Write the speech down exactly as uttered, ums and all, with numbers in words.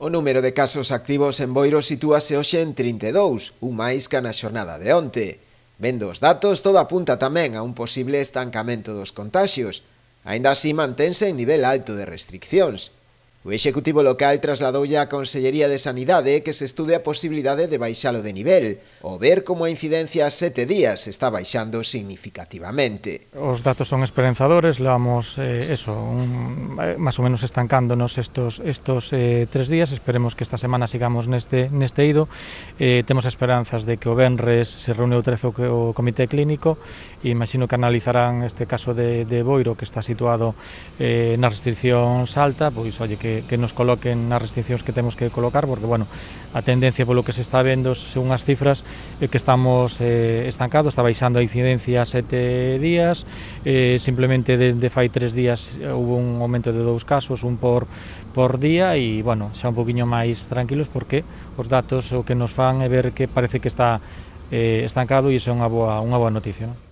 O número de casos activos en Boiro sitúase hoxe en trinta e dous, un máis que na xornada de onte. Vendo os datos, todo apunta tamén a un posible estancamento dos contaxios. Aínda así mantense en nivel alto de restriccións. O Executivo local trasladoulle á Consellería de Sanidade que se estude a posibilidade de baixalo de nivel, ou ver como a incidencia a sete días está baixando significativamente. Os datos son esperanzadores, levamos eh, eso, un, eh, máis ou menos estancándonos estos, estos eh, tres días, esperemos que esta semana sigamos neste, neste ido, eh, temos esperanzas de que o venres se reúne o trece o Comité Clínico, e imagino que analizarán este caso de, de Boiro, que está situado eh, nas restriccións alta, pois olle que que nos coloquen nas restriccións que temos que colocar, porque, bueno, a tendencia polo que se está vendo, según as cifras, é que estamos eh, estancados, está baixando a incidencia a sete días, eh, simplemente desde fai tres días houve un aumento de dous casos, un por, por día, e, bueno, xa un poquinho máis tranquilos, porque os datos o que nos fan é ver que parece que está eh, estancado, e iso é unha boa, unha boa noticia, non?